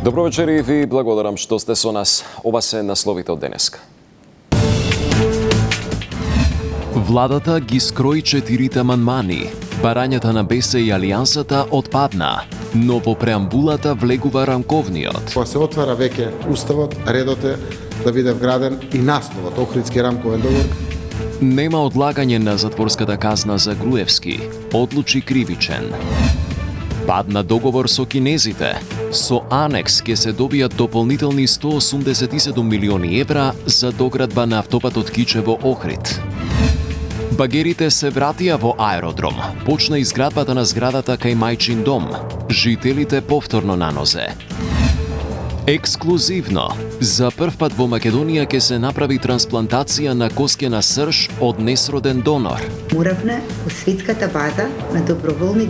Добро вечер и ви благодарам што сте со нас. Ова се насловите од денеска. Владата ги скрои 4 амандмани. Барањата на БС и Алијансата отпадна, но во преамбулата влегува рамковниот. Кога се отвара веќе уставот, редот е да биде вграден и насловот Охридски рамковен договор. Нема одлагање на затворската казна за Груевски. Одлучи кривичен. Падна договор со кинезите. Со анекс ќе се добијат дополнителни 187 милиони евра за доградба на автопатот Кичево-Охрид. Багерите се вратија во аеродром. Почна изградбата на зградата кај мајчин дом. Жителите повторно на нозе. Ексклузивно, за прв пат во Македонија ќе се направи трансплантација на коскена срж од несроден донор. Уравна во светската база на доброволни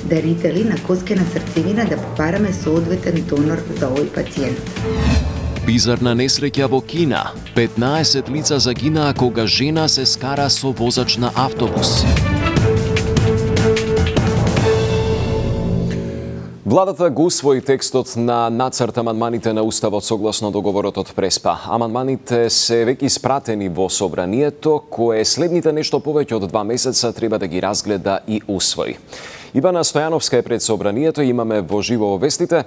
дарители на коскена срцевина да побараме соодветен донор за овој пациент. Бизарна несреќа во Кина. 15 лица загинаа кога жена се скара со возач на автобус. Владата го усвои текстот на нацрт амандманите на Уставот согласно договорот од Преспа. Амандманите се веќе испратени во Собранието, кое следните нешто повеќе од 2 месеца треба да ги разгледа и усвои. Ивана Стојановска е пред Собранието, имаме во живо во вестите.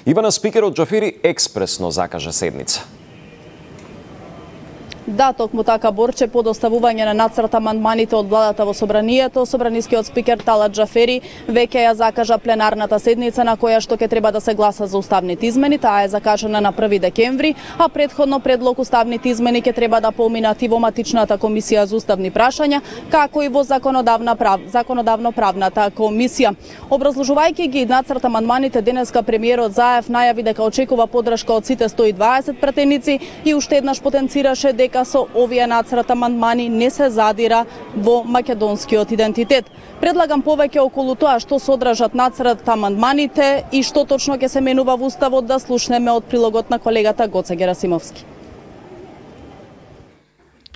Ивана, спикерот Џафери експресно закажа седница. Да, токму така, Борче, по доставување на нацрт амандманите од владата во Собранието, собранискиот спикер Талат Џафери веќе ја закажа пленарната седница на која што ќе треба да се гласа за уставните измени. Таа е закажана на 1 декември, а претходно предлог уставните измени ќе треба да поминат и во матичната комисија за уставни прашања, како и во законодавно-правната комисија. Образложувајќи ги нацрт амандманите, денеска премиерот Заев најави дека очекува поддршка од сите 120 пратеници и уште еднаш потенцираше дека со овие нацрт амандмани не се задира во македонскиот идентитет. Предлагам повеќе околу тоа што содржат нацрт амандманите и што точно ќе се менува во Уставот да слушнеме од прилогот на колегата Гоце Герасимовски.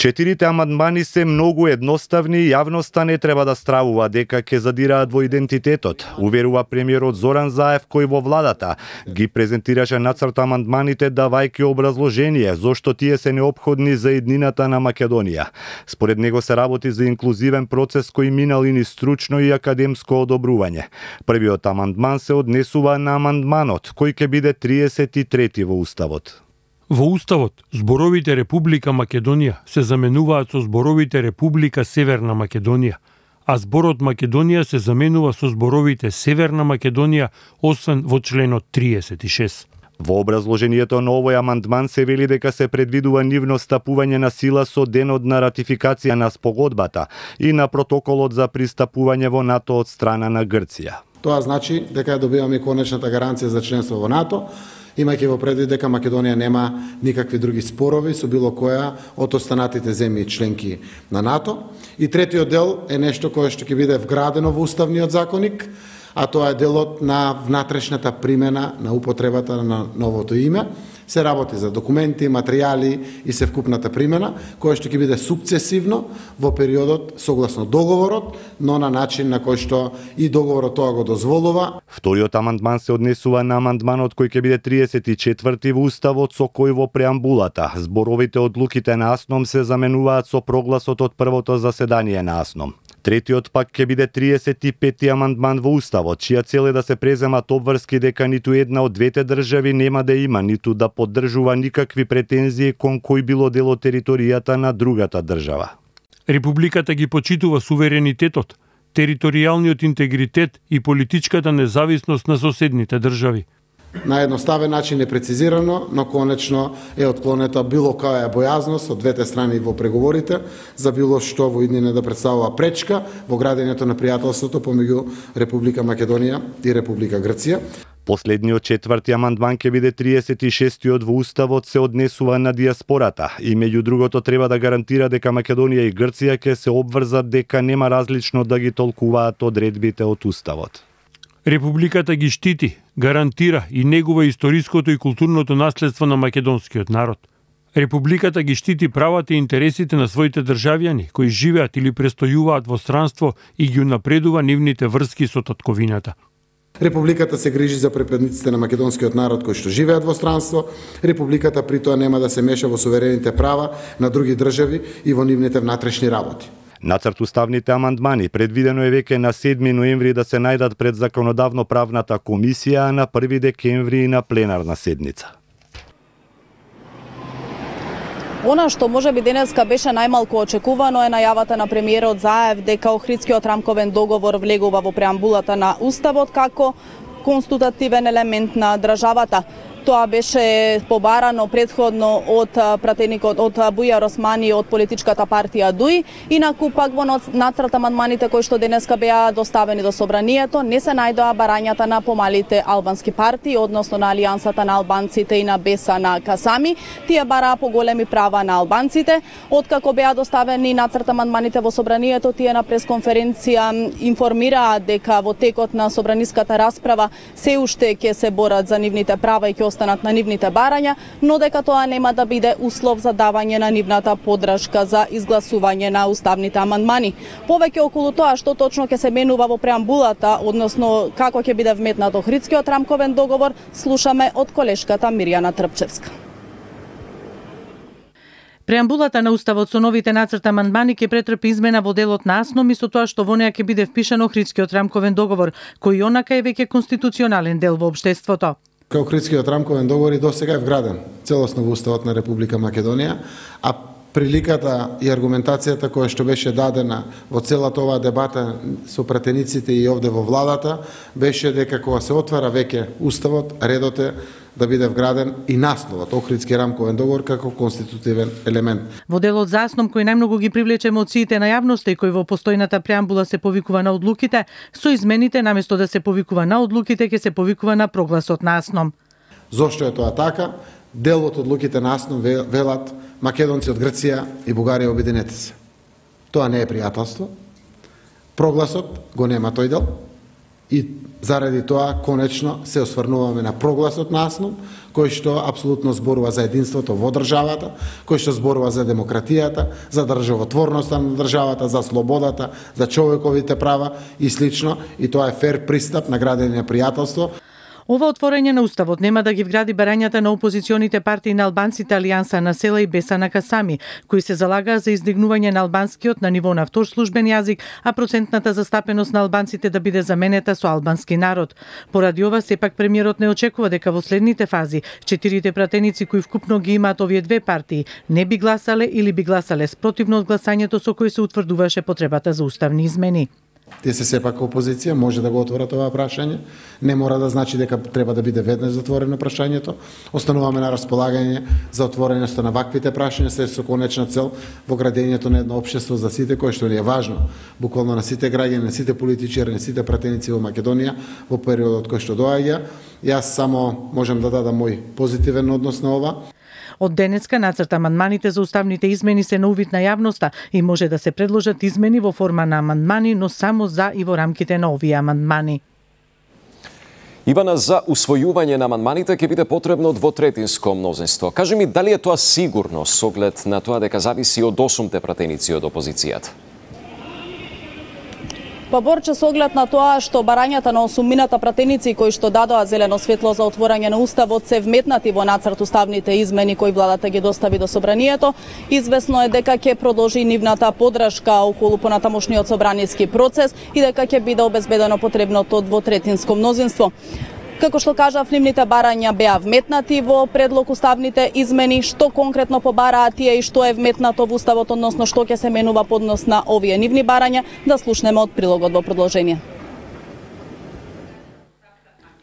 4 амандмани се многу едноставни и јавноста не треба да стравува дека ќе задираат во идентитетот, уверува премиерот Зоран Заев, кој во владата ги презентираше нацрт амандманите давајќи образложение зошто тие се неопходни за еднината на Македонија. Според него се работи за инклузивен процес кој минал и низ стручно и академско одобрување. Првиот амандман се однесува на амандманот, кој ќе биде 33 во Уставот. Во Уставот, зборовите Република Македонија се заменуваат со зборовите Република Северна Македонија, а зборот Македонија се заменува со зборовите Северна Македонија, освен во членот 36. Во образложението на овој амандман се вели дека се предвидува нивно стапување на сила со денот на ратификација на спогодбата и на протоколот за пристапување во НАТО од страна на Грција. Тоа значи дека добиваме конечната гаранција за членство во НАТО, имајќи во предвид дека Македонија нема никакви други спорови со било која од останатите земји членки на НАТО. И третиот дел е нешто кое што ќе биде вградено во уставниот законник, а тоа е делот на внатрешната примена на употребата на новото име. Се работи за документи, материјали и севкупната примена, која што ќе биде сукцесивно во периодот согласно договорот, но на начин на кој што и договорот тоа го дозволува. Вториот амандман се однесува на амандманот кој ќе биде 34 во Уставот, со кој во преамбулата зборовите одлуките на АСНОМ се заменуваат со прогласот од првото заседание на АСНОМ. Третиот пак ќе биде 35 амандман во Уставот, чија цел е да се преземат обврски дека ниту една од двете држави нема да има ниту да поддржува никакви претензии кон кој било дел од територијата на другата држава. Републиката ги почитува суверенитетот, територијалниот интегритет и политичката независност на соседните држави. На едноставен начин е прецизирано, но конечно е отклонета било која бојазност од двете страни во преговорите за било што во иднина да представува пречка во градењето на пријателството помеѓу Република Македонија и Република Грција. Последниот 4 амандман ќе биде 36-тиот во Уставот, се однесува на диаспората и меѓу другото треба да гарантира дека Македонија и Грција ќе се обврзат дека нема различно да ги толкуваат одредбите од Уставот. Републиката ги штити, гарантира и негува историското и културното наследство на македонскиот народ. Републиката ги штити правата и интересите на своите државјани кои живеат или престојуваат во странство и ги унапредува нивните врски со татковината. Републиката се грижи за припадниците на македонскиот народ кои што живеат во странство. Републиката при тоа нема да се меша во суверените права на други држави и во нивните внатрешни работи. Нацрт уставните амандмани предвидено е веќе на 7 ноември да се најдат пред законодавно-правната комисија, а на 1 декември на пленарна седница. Она што можеби денеска беше најмалку очекувано е најавата на премиерот Заев дека Охридскиот рамковен договор влегува во преамбулата на Уставот како конститутивен елемент на државата. Тоа беше побарано претходно од пратеникот од Бујар Османи од политичката партија ДУИ. Инаку пак во нацрт амандманите кои што денеска беа доставени до собранието не се најдоа барањата на помалите албански партии, односно на Алијансата на албанците и на Беса на Касами. Тие бараа поголеми права на албанците. Откако беа доставени нацрт амандманите во собранието, тие на пресконференција информираа дека во текот на собраниската расправа се уште ќе се борат за нивните права и ќе останат на нивните барања, но дека тоа нема да биде услов за давање на нивната поддршка за изгласување на уставните амандмани. Повеќе околу тоа што точно ќе се менува во преамбулата, односно како ќе биде вметнат Охридскиот рамковен договор, слушаме од колешката Мирјана Трпчевска. Преамбулата на Уставот со новите нацрт амандмани ќе претрпи измена во делот на АСНОМ и со тоа што во неа ќе биде впишан Охридскиот рамковен договор, кој онака е веќе конституционален дел во општеството. Охридскиот рамковен договор и досега е вграден целосно во Уставот на Република Македонија, а приликата и аргументацијата која што беше дадена во целата оваа дебата со пратениците и овде во владата беше дека кога се отвара веќе Уставот, редот е да биде вграден и насловот Охридски рамковен договор како конститутивен елемент. Во делот за АСНОМ кој најмногу ги привлече емоциите на јавноста и кој во постојната преамбула се повикува на одлуките, со измените наместо да се повикува на одлуките ќе се повикува на прогласот на АСНОМ. Зошто е тоа така? Дел од одлуките на АСНОМ велат македонци од Грција и Бугарија обединете се. Тоа не е пријателство. Прогласот го нема тој дел. И заради тоа конечно се осврнуваме на прогласот на АСНОМ, кој што апсолутно зборува за единството во државата, кој што зборува за демократијата, за државотворноста на државата, за слободата, за човековите права и слично, и тоа е фер пристап на градење на пријателство. Ова отворање на Уставот нема да ги вгради барањата на опозиционите партии на албанците Алијанса на села и Беса на Касами, кои се залагаа за издигнување на албанскиот на ниво на втор службен јазик, а процентната застапеност на албанците да биде заменета со албански народ. Поради ова, сепак премиерот не очекува дека во следните фази 4 пратеници кои вкупно ги имаат овие две партии не би гласале или би гласале спротивно од гласањето со кој се утврдуваше потребата за уставни измени. Тие се сепак опозиција, може да го отворат ова прашање, не мора да значи дека треба да биде веднаш затворено прашањето. Остануваме на располагање за отвореността на ваквите прашања со конечна цел во градењето на едно општество за сите, кое што ни е важно, буквално на сите граѓани, на сите политичари, на сите пратеници во Македонија во периодот кој што доаѓа. Јас само можам да дадам мој позитивен однос на ова. Од денеска нацрт амандманите за уставните измени се на увид на јавноста и може да се предложат измени во форма на амандмани, но само за и во рамките на овие амандмани. Ивана, за усвојување на амандманите ќе биде потребно двотретинско мнозинство. Кажи ми, дали е тоа сигурно со оглед на тоа дека зависи од 8 пратеници од опозицијата? Па Борче, со оглед на тоа што барањата на 8 пратеници кои што дадоа зелено светло за отворање на Уставот се вметнати во нацрт уставните измени кои владата ги достави до собранието, извесно е дека ќе продолжи нивната поддршка околу понатамошниот собраниски процес и дека ќе биде обезбедено потребното двотретинско мнозинство. Како што кажав, нивните барања беа вметнати во предлог уставните измени, што конкретно побараа тие и што е вметнато во Уставот, односно што ќе се менува по однос на овие нивни барања, да слушнеме од прилогот во продолжение.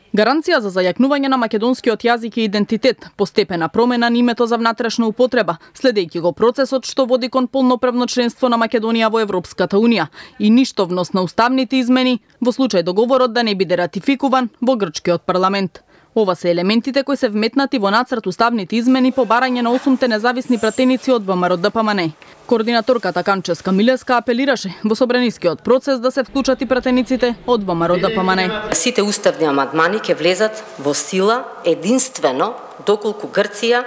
Гаранција за зајакнување на македонскиот јазик и идентитет, постепена промена на името за внатрешна употреба, следејќи го процесот што води кон полноправно членство на Македонија во Европската Унија и ништовност на уставните измени во случај договорот да не биде ратификуван во грчкиот парламент. Ова се елементите кои се вметнати во нацрт уставните измени по барање на 8 независни пратеници од ВМРО-ДПМН. Координаторката Канческа Милеска апелираше во собранискиот процес да се вклучат и пратениците од ВМРО-ДПМН. Сите уставни амандмани ќе влезат во сила единствено доколку Грција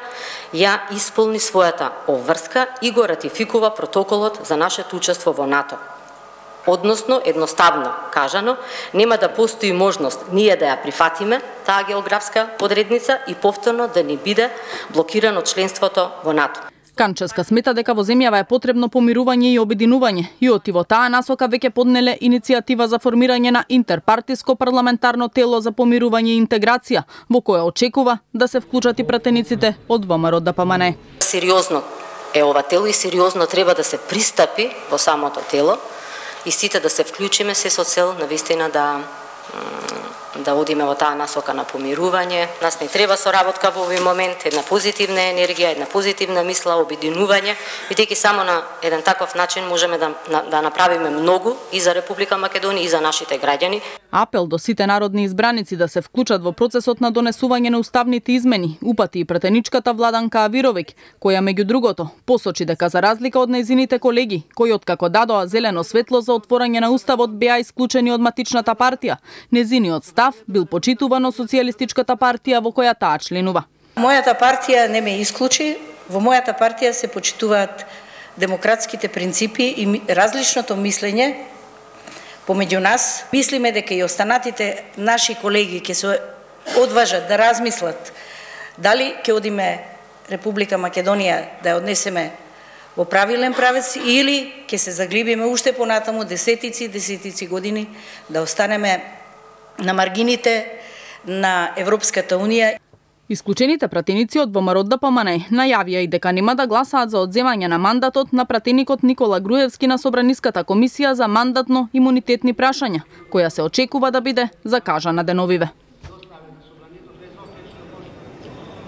ја исполни својата обврска и го ратификува протоколот за нашето учество во НАТО. Односно, едноставно кажано, нема да постои можност ние да ја прифатиме таа географска одредница и повторно да ни биде блокирано членството во НАТО. Канческа смета дека во земјава е потребно помирување и обединување и во таа насока веќе поднеле иницијатива за формирање на интерпартиско парламентарно тело за помирување и интеграција, во која очекува да се вклучат и пратениците од ВМРО ДПМН. Сериозно е ова тело и сериозно треба да се пристапи во самото тело и сите да се вклучиме се со цел навистина да одиме во таа насока на помирување. Нас не треба соработка во овој момент, една позитивна енергија, една позитивна мисла, обединување, бидејќи само на еден таков начин можеме да направиме многу и за Република Македонија и за нашите граѓани. Апел до сите народни избраници да се вклучат во процесот на донесување на уставните измени упати и претеничката Владанка Авировиќ, која меѓу другото посочи дека за разлика од нејзините колеги, кои откако дадоа зелено светло за отворање на уставот беа исклучени од матичната партија, нејзиниот став бил почитуван од Социјалистичката партија во која таа членува. Мојата партија не ме исклучи, во мојата партија се почитуваат демократските принципи и различното мислење помеѓу нас. Мислиме дека и останатите наши колеги ќе се одважат да размислат дали ќе одиме Република Македонија да ја однесеме во правилен правец или ќе се заглибиме уште понатаму десетици години да останеме на маргините на Европската Унија. Исклучените пратеници од ВМРО ДПМН најавија и дека нема да гласаат за одземање на мандатот на пратеникот Никола Груевски на Собраниската комисија за мандатно-имунитетни прашања, која се очекува да биде закажана деновиве.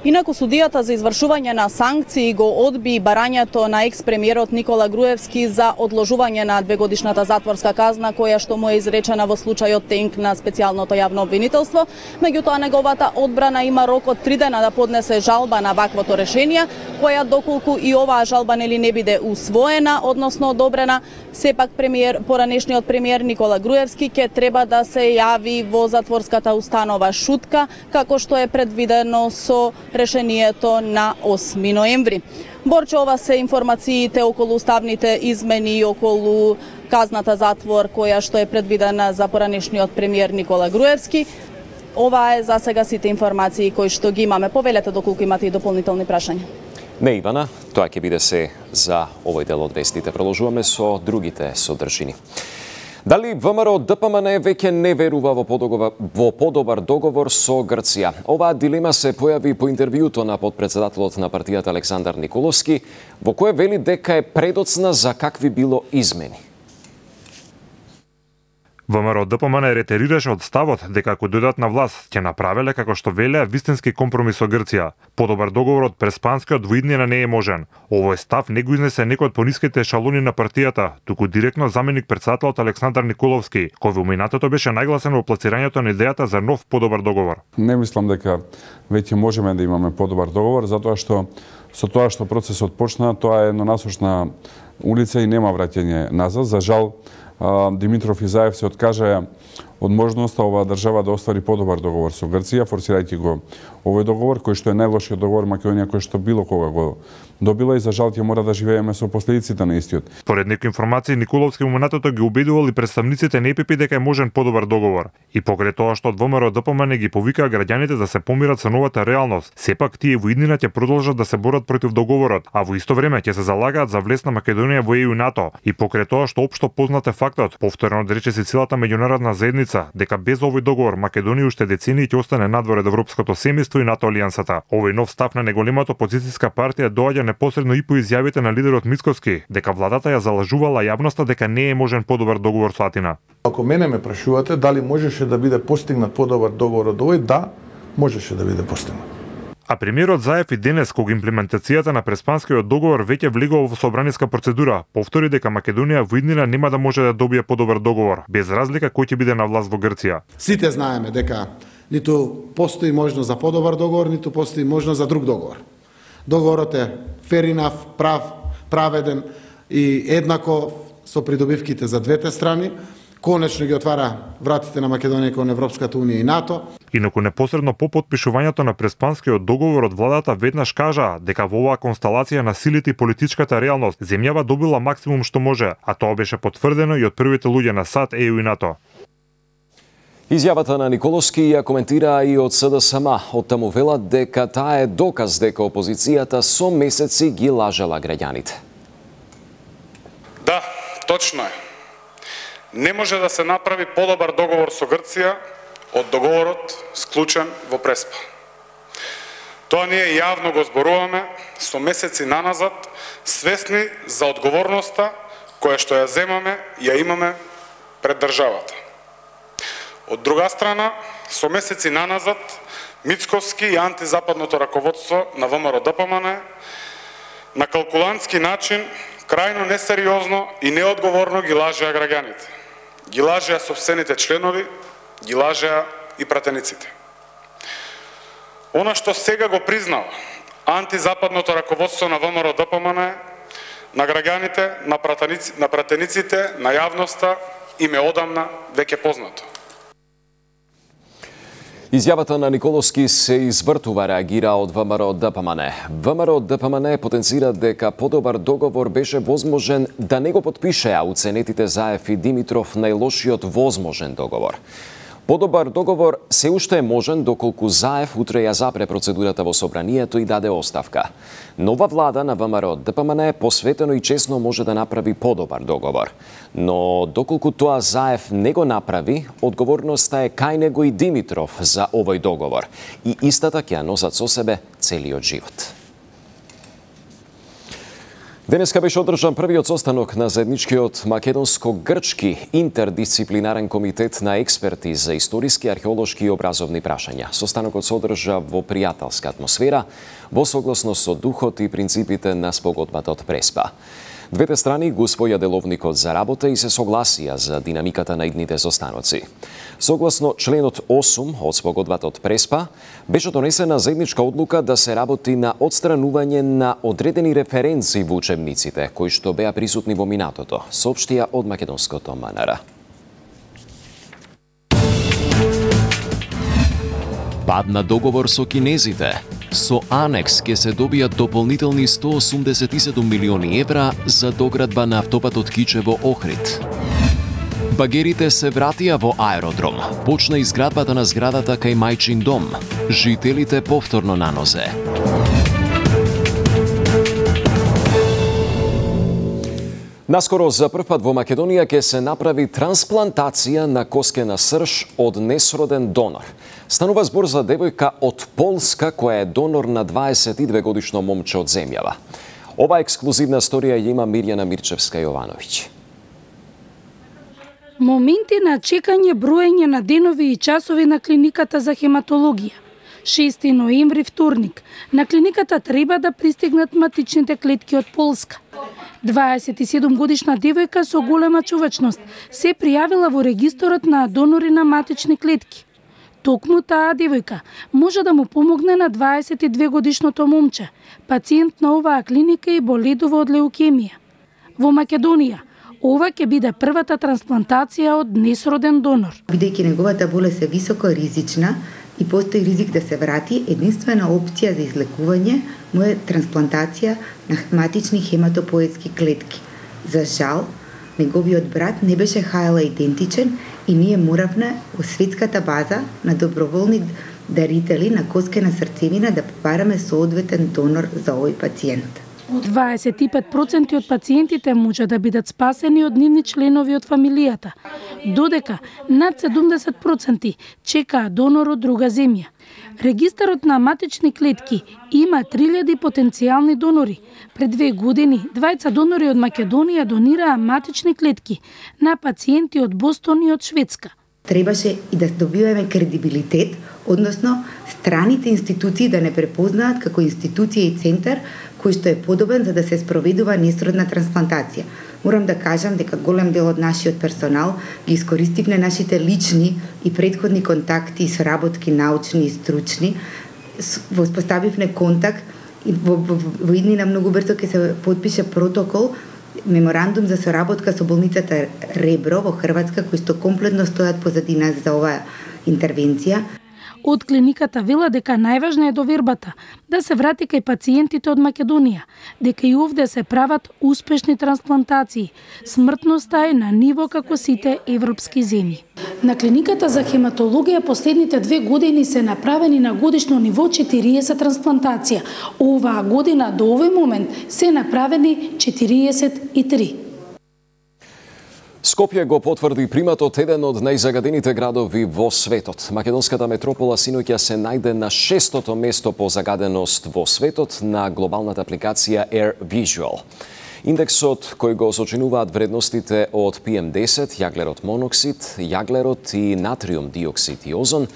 Инаку судијата за извршување на санкции го одби барањето на екс-премиерот Никола Груевски за одложување на 2-годишната затворска казна која што му е изречена во случајот Тенк на специјалното јавно обвинителство. Меѓутоа неговата одбрана има рок од 3 дена да поднесе жалба на ваквото решение, која доколку и оваа жалба не биде усвоена, односно одобрена, сепак поранешниот премиер Никола Груевски ќе треба да се јави во затворската установа Шутка, како што е предвидено со решението на 8 ноември. Борче, ова се информациите околу уставните измени и околу казната затвор која што е предвидена за поранешниот премиер Никола Груевски. Ова е за сега сите информации кои што ги имаме. Повелете доколку имате и дополнителни прашања. Не, Ивана, тоа ќе биде се за овој дел од вестите. Продолжуваме со другите содржини. Дали ВМРО ДПМН веќе не верува во подобар договор со Грција? Оваа дилема се појави по интервјуто на подпредседателот на партијата Александар Николовски, во кое вели дека е предоцна за какви било измени. ВМРО ДПМН ретерираше од ставот дека ако дојдат на власт ќе направеле како што велеа вистински компромис со Грција. Подобар договор од преспанскиот во иднина не е можен. Овој став не го изнесе некој од пониските ешалони на партијата, туку директно заменик председателот Александар Николовски, кој во минатото беше најгласен во пласирањето на идејата за нов подобар договор. Не мислам дека веќе можеме да имаме подобар договор, затоа што со тоа што процесот почна, тоа е еднонасочна улица и нема враќање назад. За жал, Димитров и Заев се откажаа од можноста оваа држава да оствари подобар договор со Грција, форсирајќи го овој договор, кој што е најлошиот договор Македонија кој што било кога го добила и за жал ќе мора да живееме со последиците на истиот. Според некои информации, Николовски во минатото ги убедувал и представниците на ЕПП дека е можен подобар договор. И покрај тоа што од ВМРО ДПМН ги повикаа граѓаните да се помират со новата реалност, сепак тие во иднина ќе продолжат да се борат против договорот, а во исто време ќе се залагаат за влез на Македонија во ЕУ и НАТО. И покрај тоа што општо познат е фактот, повторено да рече целата меѓународна заедница, дека без овој договор Македонија уште децении ќе остане надвор од европското семејство и НАТО алијансата. Овој нов став на неголемата опозицијска партија доаѓа непосредно и по изјавите на лидерот Мицкоски, дека владата ја залажувала јавноста дека не е можен подобар договор со Атина. Ако мене ме прашувате дали можеше да биде постигнат подобар договор од овој, да, можеше да биде постигнат. А премиерот Заев и денес, кога имплементацијата на преспанскиот договор веќе влегува во собраниска процедура, повтори дека Македонија во иднина нема да може да добие подобар договор, без разлика кој ќе биде на власт во Грција. Сите знаеме дека ниту постои можност за подобар договор, ниту постои можност за друг договор. Договорот е fair enough, праведен и еднаков со придобивките за двете страни, конечно ги отвара вратите на Македонија кон Европската унија и НАТО. Инаку непосредно по потпишувањето на Преспанскиот договор од владата веднаш кажаа дека во оваа констелација на силите и политичката реалност земјава добила максимум што може, а тоа беше потврдено и од првите луѓе на САД, ЕУ и НАТО. Изјавата на Николовски ја коментира и од СДСМ. Од таму велат дека таа е доказ дека опозицијата со месеци ги лажела граѓаните. Да, точно е. Не може да се направи подобар договор со Грција од договорот склучен во Преспа. Тоа ние јавно го зборуваме со месеци наназад, свесни за одговорноста која што ја земаме и ја имаме пред државата. Од друга страна, со месеци наназад, Мицковски и антизападното раководство на ВМРО-ДПМН на калкулантски начин, крајно несериозно и неодговорно ги лажеа граѓаните. Ги лажеа сопствените членови, ги лажеа и пратениците. Она што сега го признава антизападното раководство на ВМРО-ДПМН на граѓаните, на пратениците, на јавноста им е одамна веќе познато. Изјавата на Николовски се извртува, реагира од ВМРО-ДПМН. ВМРО-ДПМН потенцира дека подобар договор беше возможен да не го потпишеа уценетите Заев и Димитров најлошиот возможен договор. Подобар договор се уште е можен доколку Заев утре ја запре процедурата во собранието и даде оставка. Нова влада на ВМРО-ДПМН посветено и честно може да направи подобар договор. Но доколку тоа Заев не го направи, одговорноста е кај него и Димитров за овој договор. И истата ќе ја носат со себе целиот живот. Денеска беше одржан првиот состанок на заедничкиот македонско-грчки интердисциплинарен комитет на експерти за историски, археолошки и образовни прашања. Состанокот се одржа во пријателска атмосфера, во согласно со духот и принципите на спогодбата од Преспа. Двете страни го усвоја деловникот за работа и се согласија за динамиката на идните состаноци. Согласно членот 8 од спогодбата од Преспа, беше донесена заедничка одлука да се работи на отстранување на одредени референци во учебниците, кои што беа присутни во минатото, соопштија од македонското МНР. Падна договор со кинезите. Со анекс ќе се добијат дополнителни 187 милиони евра за доградба на автопатот Кичево-Охрид. Багерите се вратија во аеродром. Почна изградбата на зградата кај мајчин дом. Жителите повторно на нозе. Наскоро за прв пат во Македонија ќе се направи трансплантација на коскена срж од несроден донор. Станува збор за девојка од Полска која е донор на 22 годишно момче од земјава. Ова ексклузивна сторија ја има Мирјана Мирчевска-Јовановиќ. Моменти на чекање, броење на денови и часови на клиниката за хематологија. 6 ноември, вторник. На клиниката треба да пристигнат матичните клетки од Полска. 27 годишна девојка со голема чувачност се пријавила во регисторот на донори на матични клетки. Токму таа девојка може да му помогне на 22 годишното момче, пациент на оваа клиника и боледува од леукемија. Во Македонија, ова ќе биде првата трансплантација од несроден донор. Бидејќи неговата болест е високо ризична и постои ризик да се врати, единствена опција за излекување му е трансплантација на матични хематопоетски клетки. За жал, неговиот брат не беше ХЛ идентичен и ние моравме во светската база на доброволни дарители на коскена срцевина да побараме соодветен донор за овој пациент. 25% од пациентите може да бидат спасени од нивни членови од фамилијата, додека над 70% чекаат донор од друга земја. Регистарот на матични клетки има 3000 потенцијални донори. Пред 2 години, двајца донори од Македонија донираа матични клетки на пациенти од Бостон и од Шведска. Требаше и да добиваме кредибилитет, односно страните институции да не препознаат како институција и центар кој што е подобен за да се спроведува несродна трансплантација. Морам да кажам дека голем дел од нашиот персонал ги искористивме нашите лични и претходни контакти и соработки научни и стручни. Воспоставивме контакт и во иднина многу брзо ќе се подпише протокол меморандум за соработка со болницата Ребро во Хрватска, кои што комплетно стојат позади нас за оваа интервенција. Од клиниката вела дека најважна е довербата, да се врати кај пациентите од Македонија, дека и овде се прават успешни трансплантации. Смртноста е на ниво како сите европски земји. На клиниката за хематологија последните 2 години се направени на годишно ниво 40 трансплантација. Оваа година до овој момент се направени 43. Скопје го потврди приматот еден од најзагадените градови во светот. Македонската метропола синоќа се најде на 6-тото место по загаденост во светот на глобалната апликација Air Visual. Индексот кој го сочинуваат вредностите од PM10, јаглерод моноксид, јаглерод и натриум диоксид и озон,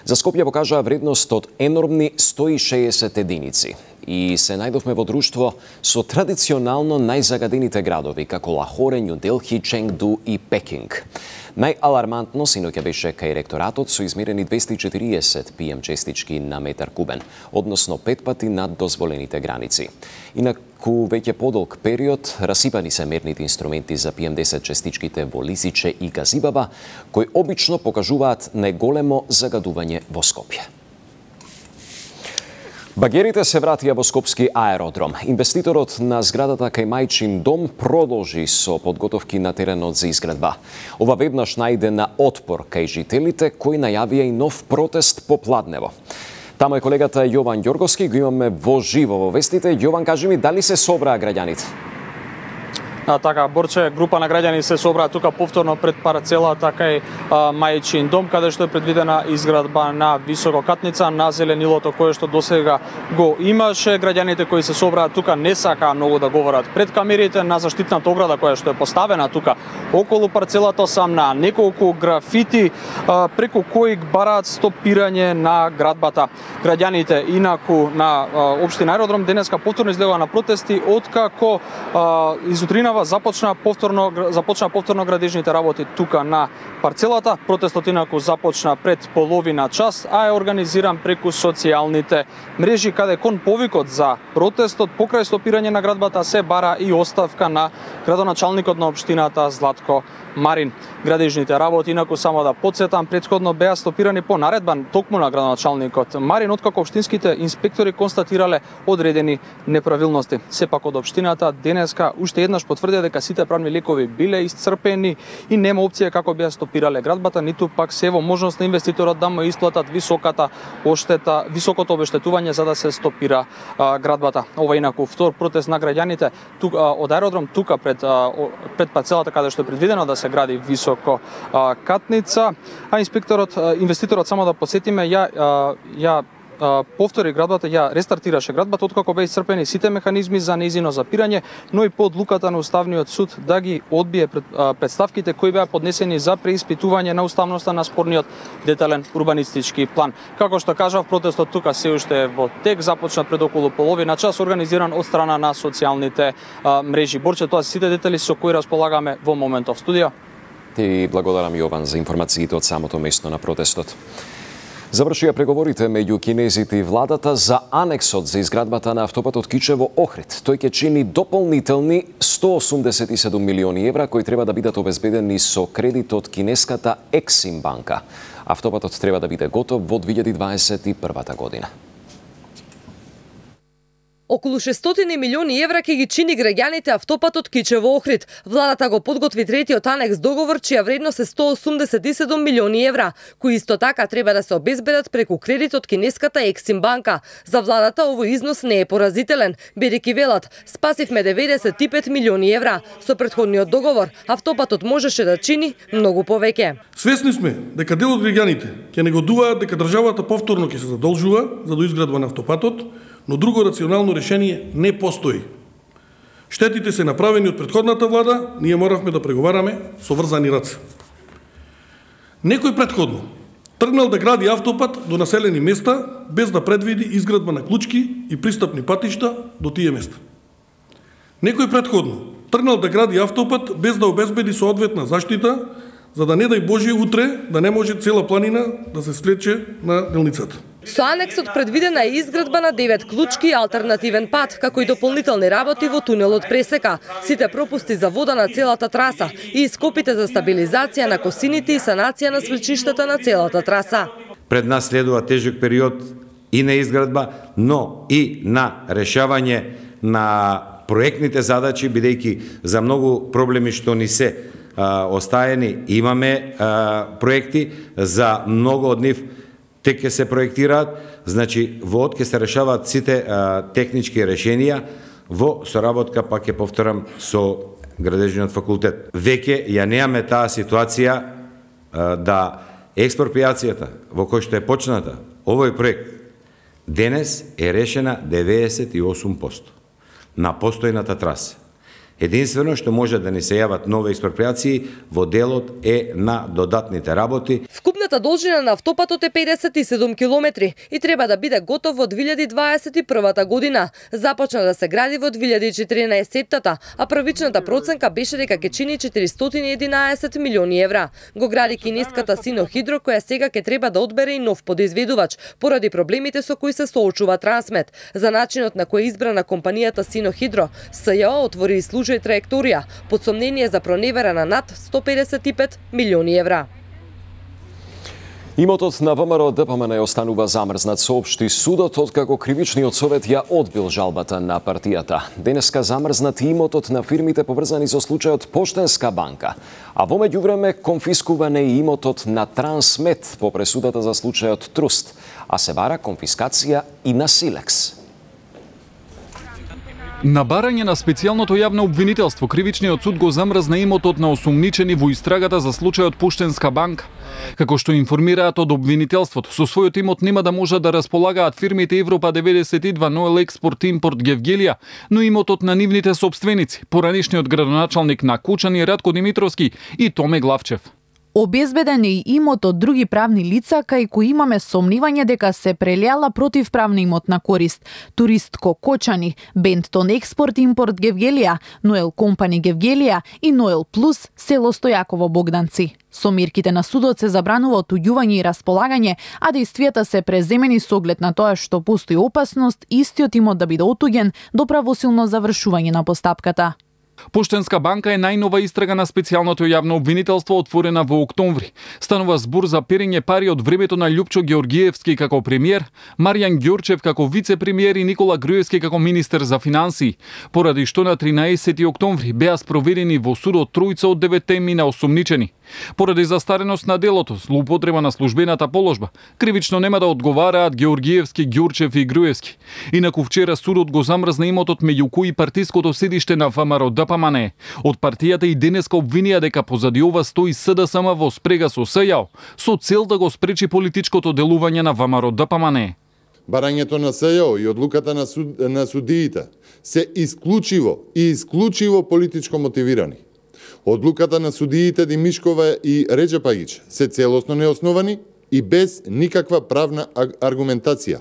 за Скопје покажаа вредност од енормни 160 единици. И се најдовме во друштво со традиционално најзагадените градови, како Лахоре, Њу Делхи, Ченгду и Пекинг. Најалармантно синоќа беше кај ректоратот со измерени 240 PM честички на метар кубен, односно 5 пати над дозволените граници. Инаку веќе подолг период расипани се мерните инструменти за PM10 честичките во Лисиче и Газибаба, кои обично покажуваат најголемо загадување во Скопје. Багерите се вратија во Скопски аеродром. Инвеститорот на зградата кај Мајчин дом продолжи со подготовки на теренот за изградба. Ова веднаш најде на отпор кај жителите кои најавија и нов протест по Пладнево. Тамо е колегата Јован Ѓорговски, го имаме во живо во вестите. Јован, кажи ми, дали се собраа граѓаните? Така, Борче, група на граѓани се собраа тука повторно пред парцелата кај Мајчин дом, каде што е предвидена изградба на висококатница на зеленилото кое што досега го имаше. Граѓаните кои се собраа тука не сакаа многу да говорат пред камерите на заштитната ограда која што е поставена тука околу парцелата, сам на неколку графити преку кои бараат стопирање на градбата. Граѓаните инаку на општина Аеродром денеска повторно излегоа на протести откако изутринава започна повторно градежните работи тука на парцелата. Протестот инаку започна пред половина час, а е организиран преку социјалните мрежи, каде кон повикот за протестот покрај стопирање на градбата се бара и оставка на градоначалникот на општината Златко Марин. Градежните работи, инаку само да подсетам, претходно беа стопирани по наредба токму на градоначалникот Марин, откако општинските инспектори констатирале одредени неправилности. Сепак од општината денеска уште еднаш потврдија дека сите правни лекови биле исцрпени и нема опција како беа стопирале градбата, ниту пак се во можност на инвеститорот да му исплатат високото обештетување за да се стопира градбата. Ова инаку втор протест на граѓаните од аеродром тука пред парцелата каде што е предвидено да се гради високо катница, а инвеститорот, само да посетиме, ја повтори градбата, ја рестартираше градбата откако беа исцрпени сите механизми за нејзино запирање, но и по одлуката на Уставниот суд да ги одбие претставките кои беа поднесени за преиспитување на уставноста на спорниот детален урбанистички план. Како што кажав, протестот тука се уште е во тек, започна пред околу половина час, организиран од страна на социјалните мрежи. Борче, тоа се сите детали со кои располагаме во моментов. Студио. Ти благодарам, Јован, за информациите од самото место на протестот. Завршија преговорите меѓу кинезите и владата за анексот за изградбата на автопатот Кичево-Охрид. Тој ќе чини дополнителни 187 милиони евра кои треба да бидат обезбедени со кредит од кинеската Ексим банка. Автопатот треба да биде готов во 2021 година. Околу 600 милиони евра ќе ги чини граѓаните автопатот Кичево-Охрид. Владата го подготви третиот анекс договор чија вредност е 187 милиони евра, кои исто така треба да се обезбедат преку кредит од кинеската Ексим банка. За владата овој износ не е поразителен, бидејќи велат спасивме 95 милиони евра. Со претходниот договор автопатот можеше да чини многу повеќе. Свесни сме дека дел од граѓаните ќе негодуваат дека државата повторно ќе се задолжува за доизградба на автопатот, но друго рационално решение не постои. Штетите се направени од претходната влада, ние моравме да преговараме со врзани раце. Некој претходно тргнал да гради автопат до населени места без да предвиди изградба на клучки и пристапни патишта до тие места. Некој претходно тргнал да гради автопат без да обезбеди соодветна заштита, за да не дај Боже утре да не може цела планина да се слече на делницата. Со анексот предвидена е изградба на 9 клучки и алтернативен пат, како и дополнителни работи во тунелот Пресека, сите пропусти за вода на целата траса и ископите за стабилизација на косините и санација на свлечиштата на целата траса. Пред нас следува тежок период и на изградба, но и на решавање на проектните задачи, бидејќи за многу проблеми што ни се остаени имаме проекти, за многу од нив тек ќе се проектираат, значи во од ќе се решаваат сите технички решенија во соработка, пак ќе повторам, со градежниот факултет. Веќе ја немаме таа ситуација да експроприацијата во кој што е почната овој проект денес е решена 98% на постојната траса. Единствено што може да ни се јават нови експроприации во делот е на додатните работи. Вкупната должина на автопатот е 57 километри и треба да биде готов во 2021 година. Започна да се гради во 2014-та, а првичната проценка беше дека ќе чини 411 милиони евра. Го гради кинеската Синохидро, која сега ќе треба да одбере и нов подизведувач, поради проблемите со кои се соочува Трансмет. За начинот на кој е избрана компанијата Синохидро, СЈО отвори и служба траекторија под сомнение за проневера на над 155 милиони евра. Имотот на ВМРО ДПМН останува замрзнат, соопшти судот, откако кривичниот совет ја одбил жалбата на партијата. Денеска замрзнат имотот на фирмите поврзани со случајот Поштенска банка, а во меѓувреме конфискуване и имотот на Трансмет по пресудата за случајот Труст, а се бара конфискација и на Силекс. На барање на специјалното јавно обвинителство, кривичниот суд го замрзна имотот на осумничени во истрагата за случајот Поштенска банка. Како што информираат од обвинителството, со својот имот нема да можат да располагаат фирмите Европа 92, Ноел Експорт Импорт Гевгелија, но имотот на нивните сопственици, поранишниот градоначалник на Кучани Радко Димитровски и Томе Главчев. Обезбеден е и имот од други правни лица, кај кои имаме сомнивање дека се прелијала противправна имотна корист. Туристко Кочани, Бентон Експорт Импорт Гевгелија, Ноел Компани Гевгелија и Ноел Плюс, село Стојаково Богданци. Со мерките на судот се забранува отуѓување и располагање, а действијата се преземени со оглед на тоа што постои опасност истиот имот да биде отуѓен до правосилно завршување на постапката. Поштенска банка е најнова истрага на специјалното јавно обвинителство отворена во октомври. Станува збор за перење пари од времето на Љупчо Георгиевски како премиер, Маријан Ѓорчев како вице-премиер и Никола Груевски како министер за финансии, поради што на 13 октомври беа спроведени во судот тројца од 9 мина осумничени. Поради застареност на делото, злоупотреба на службената положба, кривично нема да одговараат Георгиевски, Ѓурчев и Груевски. Инаку вчера судот го замрзна имотот меѓу кои партиското седиште на ВМРО ДПМН. Од партијата и денеска обвинија дека позади ова стои СДСМ во спрега со СЈО, со цел да го спречи политичкото делување на ВМРО ДПМН. Барањето на СЈО и одлуката на судиите се исклучиво политичко мотивирани. Одлуката на судиите Димишкова и Реджепагич се целосно неосновани и без никаква правна аргументација.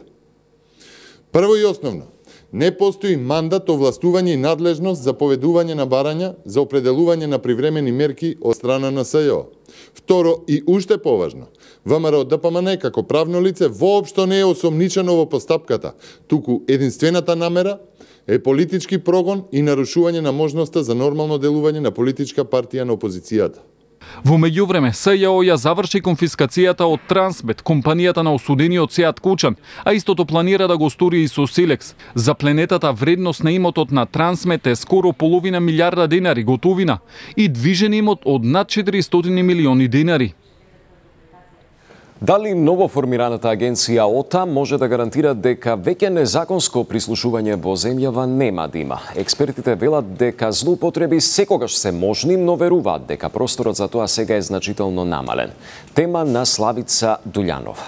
Прво и основно, не постои мандат, овластување и надлежност за поведување на барања за определување на привремени мерки од страна на СЈО. Второ и уште поважно, ВМРО ДПМН како правно лице воопшто не е осомничено во постапката, туку единствената намера е политички прогон и нарушување на можноста за нормално делување на политичка партија на опозицијата. Во меѓувреме, СЈО ја заврши конфискацијата од Трансмет, компанијата на осудениот Сеат Кучан, а истото планира да го стори и со Силекс. Запленетата вредност на имотот на Трансмет е скоро половина милиарда денари готовина и движен имот од над 400 милиони денари. Дали новоформираната агенција ОТА може да гарантира дека веќе незаконско прислушување во земјава нема да има? Експертите велат дека злоупотреби секогаш се можни, но веруваат дека просторот за тоа сега е значително намален. Тема на Славица Дуљанова.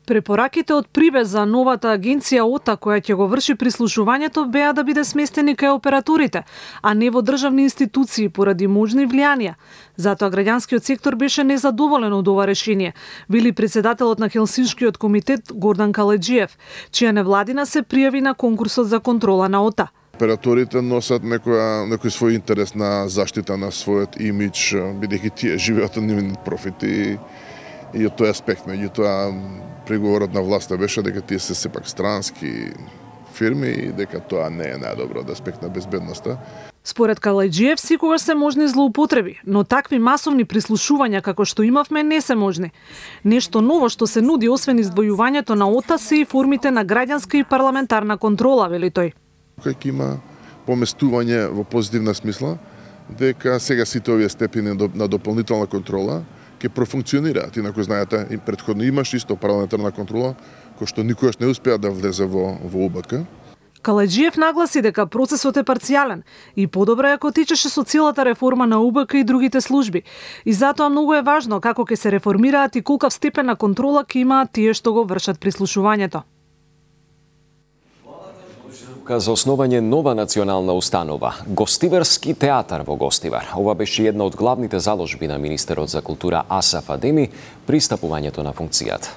Препораките од Прибез за новата агенција ОТА која ќе го врши прислушувањето беа да биде сместени кај операторите, а не во државни институции поради можни влијанија. Затоа граѓанскиот сектор беше незадоволен од ова решение, вели председателот на Хелсиншкиот комитет Гордан Каледжиев, чија невладина се пријави на конкурсот за контрола на ОТА. Операторите носат некој свој интерес на заштита на својот имидж, бидејќи тие живеат од нивни профити и од тој аспект. Меѓутоа, преговорот на власта беше дека тие се сепак странски фирми и дека тоа не е најдобро од аспект на безбедноста. Според Калајџиев, секогаш се можни злоупотреби, но такви масовни прислушувања како што имавме не се можни. Нешто ново што се нуди освен издвојувањето на ОТА се и формите на граѓанска и парламентарна контрола, вели тој. Кога има поместување во позитивна смисла, дека сега сите овие степени на дополнителна контрола ќе профункционираат. Инаку знаете, и претходно имаш исто парламентарна контрола, кој што никогаш не успеа да влезе во УБК. Калајџиев нагласи дека процесот е парцијален и подобро е ако течеше со целата реформа на УБК и другите служби. И затоа многу е важно како ќе се реформираат и колкав степен на контрола ќе имаат тие што го вршат прислушувањето. За основање нова национална установа, Гостиварски театар во Гостивар. Ова беше една од главните заложби на министерот за култура Асаф Адеми при стапувањето на функцијата.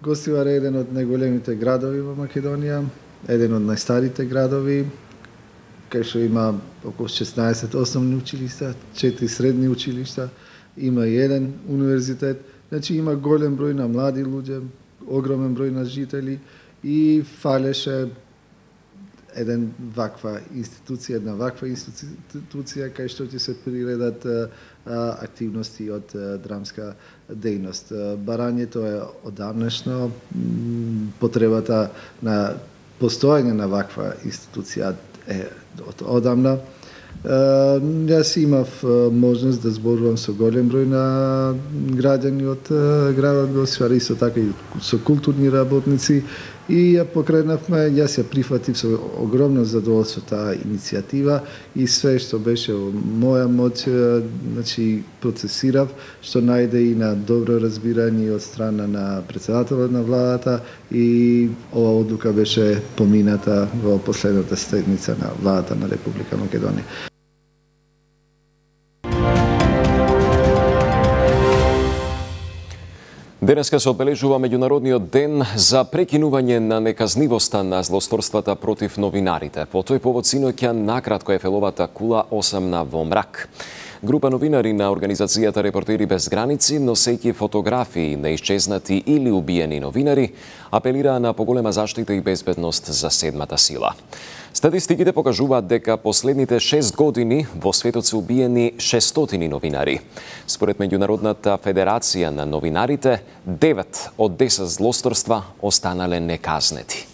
Гостивар е еден од најголемите градови во Македонија, еден од најстарите градови, кај што има околу 16 основни училишта, 4 средни училишта, има и еден универзитет, значи има голем број на млади луѓе, огромен број на жители и фалеше една ваква институција кај што ќе се приредат активности од драмска дејност. Барањето е одамнешно, потребата на постојање на ваква институција е одамна. Јас имав можност да зборувам со голем број на граѓани од градот Гостивар, исто така и со културни работници, и ја покренавме, јас ја прифатив со огромно задоволство таа иницијатива и све што беше во моја моќ, значи процесирав, што најде и на добро разбирање од страна на претседателот на владата и ова одлука беше помината во последната седница на владата на Република Македонија. Денеска се одбележува меѓународниот ден за прекинување на неказнивоста на злосторствата против новинарите. По тој повод синоќа накратко ефеловата кула 8 во мрак. Група новинари на организацијата Репортери без граници, носејќи фотографии на исчезнати или убиени новинари, апелираа на поголема заштита и безбедност за седмата сила. Статистиките покажуваат дека последните 6 години во светот се убиени 600 новинари. Според Меѓународната федерација на новинарите, 9 од 10 злосторства останале неказнети.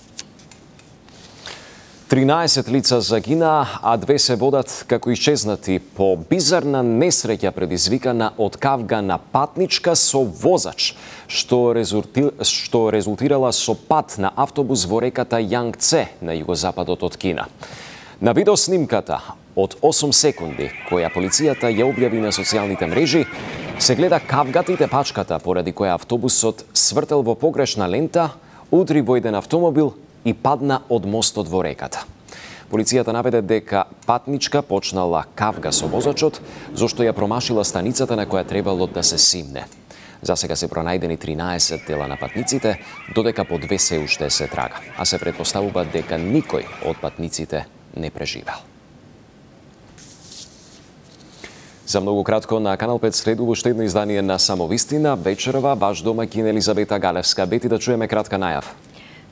13 лица загинаа, а 2 се водат како исчезнати по бизарна несреќа предизвикана од кавга на патничка со возач, што резултирала со пат на автобус во реката Јангце на југозападот од Кина. На видеоснимката од 8 секунди, која полицијата ја објави на социјалните мрежи, се гледа кавгата и тепачката поради која автобусот свртел во погрешна лента, удри во еден автомобил и падна од мостот во реката. Полицијата наведе дека патничка почнала кавга со возачот, зашто ја промашила станицата на која требало да се симне. За сега се пронајдени 13 тела на патниците, додека по 2 се уште се трага, а се претпоставува дека никој од патниците не преживел. За многу кратко на Канал 5 следува уште едно издание на Самовистина. Вечерова ваш домаќин Елизавета Галевска. Бети, да чуеме кратка најава.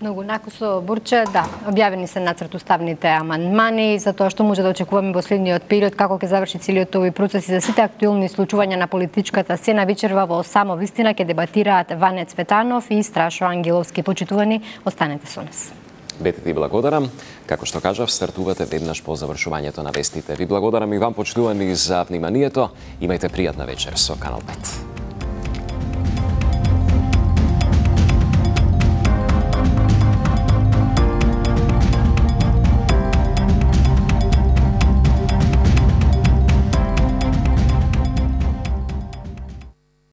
Многу накусо, Бурче, да, објавени се нацрт уставните амандмани за тоа што може да очекуваме во следниот период, како ќе заврши целиот овој процес и за сите актуелни случувања на политичката сцена. Вечерва во Самовистина ќе дебатираат Ване Цветанов и Страшо Ангеловски. Почитувани, останете со нас. Бете ти благодарам. Како што кажав, стартувате веднаш по завршувањето на вестите. Ви благодарам и вам, почитувани, за вниманието. Имајте пријатна вечер со Канал 5.